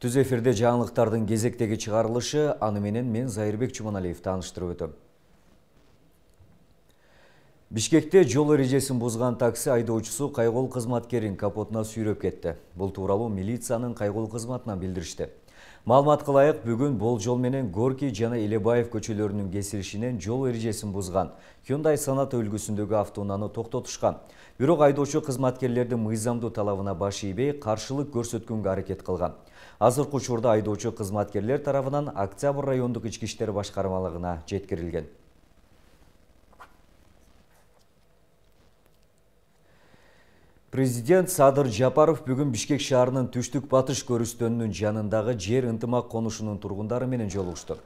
Түз эфирде жаңылыктардын кезектеги чыгарылышы, аны менен мен Зайырбек Чуманалиев тааныштырып өтөм. Бишкекте жол эрежесин бузган такси айдоочусу кайгыл кызматкерин капотуна сүйрөп кетти. Бул тууралуу милициянын кайгыл кызматынан билдиришти. Маалыматка ылайык, бүгүн Болжол менен Горький жана Элебаев көчөлөрүнүн кесилишинен жол эрежесин бузган Hyundai Sonata үлгүсүндөгү автоунааны токтотушкан. Бирок айдоочу кызматкерлердин мыйзамдуу талабына баш ийбей, каршылык көрсөткөнгө аракет кылган. Азыркы учурда айдоочу кызматкерлер тарабынан Октябрь райондук ички иштер башкармалыгына жеткирилген. Президент Садыр Жапаров бүгүн Бишкек шаарынын түштүк-батыш көрүстөнүнүн жанындагы жер ынтымак конушунун тургундары менен жолугушту.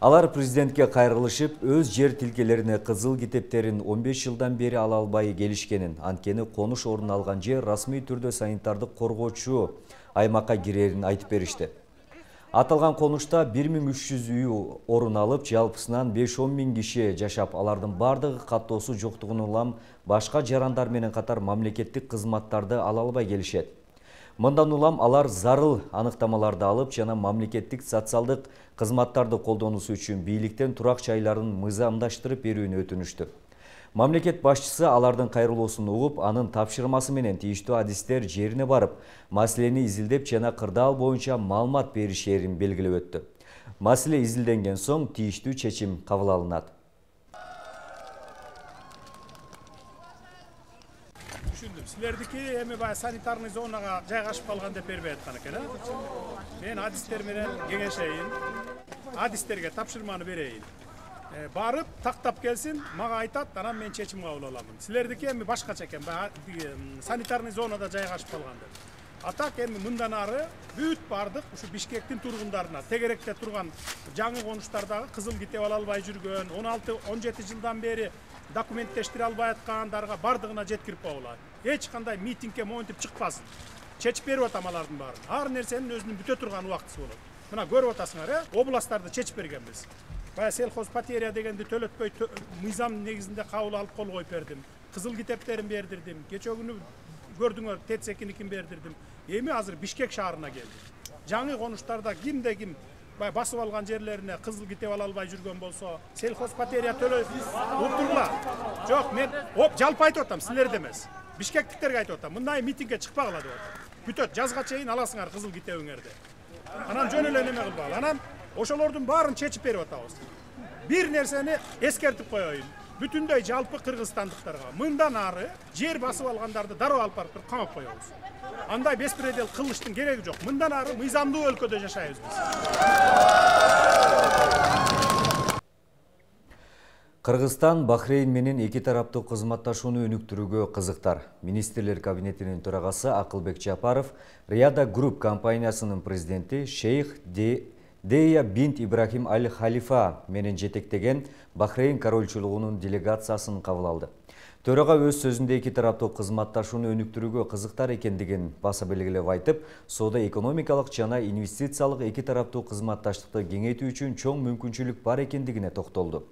Алар президентке кайрылышып, өз жер тилкелерине кызыл китептерин 15 жылдан бери ала албай келишкенин, анткени конуш орун алган жер расмий түрдө санитардык коргоочу аймакка кирерин айтып беришти. Аталган конушта 1300 үй орун алып, жалпысынан 5-10 миң киши жашап, алардын бардыгы каттоосу жоктугун улам башка жарандар менен катар мамлекеттик кызматтарды ала албай келишет. Мындан улам алар зарыл аныктамаларды алып жана мамлекеттик социалдык кызматтарды колдонуусу үчүн бийликтен турак жайларын мыйзамдаштырып берүүнү өтүнүштү. Мамлекет башчысы алардын кайрылуусун угуп, анын тапшырмасы менен тийиштүү адистер жерине барып, маселени изилдеп жана кырдаал боюнча маалымат беришерин белгилеп өттү. Маселе изилденген соң тийиштүү чечим кабыл алынат. Түшүндүм. Силердики эми баягы санитарный зонага жайгашып калган деп бербей аткан экен, Мен адистер менен кеңешейин, адистерге тапшырманы берейин. Барып, тактап келсин, мага айтат, анан мен чечим кабыл аламын. Силердики эми башкача экен, санитарный зонада жайгашып калган деп. Атак эми мындан ары бүт бардык ушу Бишкектин тургундарына, тегеректе турган жаңы конуштардагы кызыл китеп ала албай жүргөн, 16-17 жылдан бери документтештире албай аткандарга бардыгына жеткирип коелат. Эч кандай митингге монтип чыкпасын. Чечип берип атам алардын баарын. Ар нерсенин өзүнүн бүтө турган убактысы болот. Мына көрүп атасыңар, областтарды чечип бергенбиз. Баягы сельхоз потеря дегенди төлөтпөй мыйзам негизинде кабыл алып кол коюп бердим. Кызыл китептерин бердирдим. Кече күнү көрдүңөр, ТЭЦ-2-никин бердирдим. Эми азыр Бишкек шаарына келди. Жаңы конуштарда кимде ким басып алган жерлерине кызыл китеп ала албай жүргөн болсо, сельхоз потеря төлөй утурла. Жок, мен жалпы айтып атам, силерде эмес. Бишкектиктерге айтып атам. Мындай митингге чыкпагыла деп атам. Бүтөт, жазга чейин аласыңар кызыл китебиңерди. Анан жөн эле неме кылбагыла. Анан ошолордун баарын чечип берип атабыз. Бир нерсени эскертип коеюн. Бүтүндөй жалпы кыргызстандыктарга мындан ары жер басып алгандарды дароо алып барып камап коебуз. Андай беспредел кылыштын кереги жок. Мындан ары мыйзамдуу өлкөдө жашайбыз биз. Кыргызстан Бахрейн менен эки тараптуу кызматташууну өнүктүрүүгө кызыктар. Министрлер кабинетинин төрагасы Акылбек Жапаров Риада Групп компаниясынын президенти Шейх Дея бинт Ибрахим Аль-Халифа менен жетектеген Бахрейн корольчулугунун делегациясын кабыл алды. Төрага өз сөзүндө эки тараптуу кызматташууну өнүктүрүүгө кызыктар экендигин баса белгилеп айтып, соода-экономикалык жана инвестициялык эки тараптуу кызматташтыкты кеңейтүү үчүн чоң мүмкүнчүлүк бар экендигине токтолду.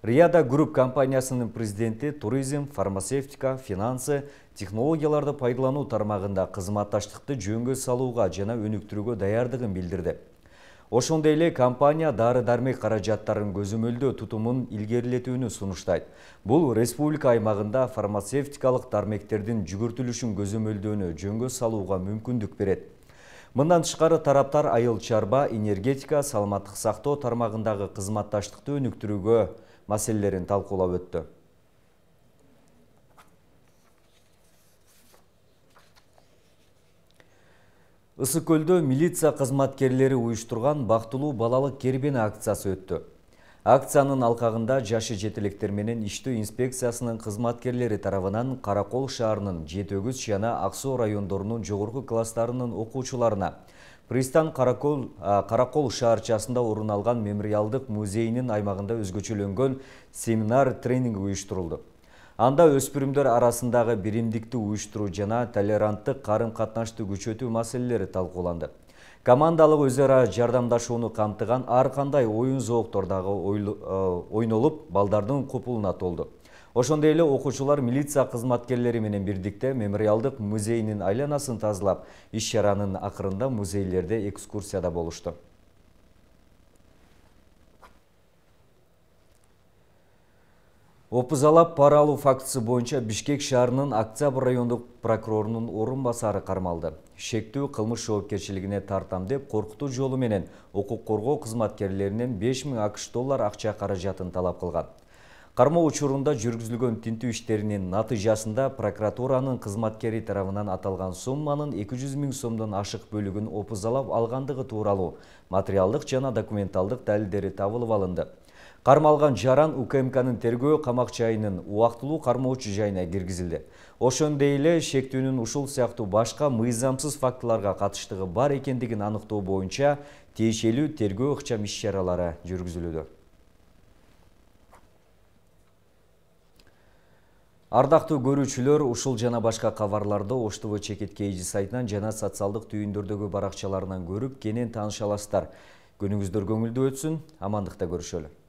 Риада Групп компаниясынын президенти туризм, фармацевтика, финансы, технологияларды пайдалануу тармагында кызматташтыкты жөнгө салууга жана өнүктүрүүгө даярдыгын билдирди. Ошондой эле компания дары-дармек каражаттарын көзөмөлдөө тутумун илгерилетүүнү сунуштайт. Бул республика аймагында фармацевтикалык дармектердин жүгүртүлүшүн көзөмөлдөөнү жөнгө салууга мүмкүндүк берет. Мындан тышкары тараптар айыл чарба, энергетика, саламаттык сактоо тармагындагы кызматташтыкты өнүктүрүүгө маселелерин талкуулап өттү. Ысык көлдө милиция кызматкерлери уюштурган бактылуу балалык кербени акциясы өттү. Акциянын алкагында жашы жетелектер менен иштөө инспекциясынын кызматкерлери тарабынан Каракол шаарынын Жетөгүз жана Ак Суу райондорунун жогорку класстарынын окуучуларына Пристан Каракол шаарчасында орун алган мемориалдык музейинин аймагында өзгөчөлөнгөн семинар тренинг уюштурулду. Анда өспүрүмдөр арасындагы биримдикти уюштуруу жана толеранттык карым-катнашты күчөтүү маселелери талкууланды. Командалык өз ара жардамдашууну камтыган ар кандай оюн зооктордагы ойнолуп, балдардын купулуна толду. Ошондой эле окуучулар милиция кызматкерлери менен бирдикте мемориалдык музейинин айланасын тазалап, иш-чаранын акырында музейлерде экскурсияда болушту. Опузалап пара алуу фактысы боюнча Бишкек шаарынын Октябрь райондук прокурорунун орун басары кармалды. Шектүү кылмыш жоопкерчилигине тартам деп коркутуу жолу менен укук коргоо кызматкерлеринен 5000 АКШ доллар акча каражатын талап кылган. Кармоо учурунда жүргүзүлгөн тинтүү иштеринин натыйжасында прокуратуранын кызматкери тарабынан аталган сумманын 200 000 сомдон ашык бөлүгүн опузалап алгандыгы тууралуу материалдык жана документалдык далилдери табылып алынды. Кармалган жаран УКМКнын тергөө камакчайынын убактылуу кармоочу жайына киргизилди. Ошондой эле шектүүнүн ушул сыяктуу башка мыйзамсыз фактыларга катыштыгы бар экендигин аныктоо боюнча тиешелүү тергөө ыкчам иш-чаралары жүргүзүлүүдө. Ардактуу көрүүчүлөр, ушул жана башка кабарларды Ош ТВ Чекит KG сайтынан жана социалдык түйүндөрдөгү баракчаларынан көрүп, кенен тааныша аласыздар. Күнүңүздөр көңүлдүү өтсүн, амандыкта көрүшөлү.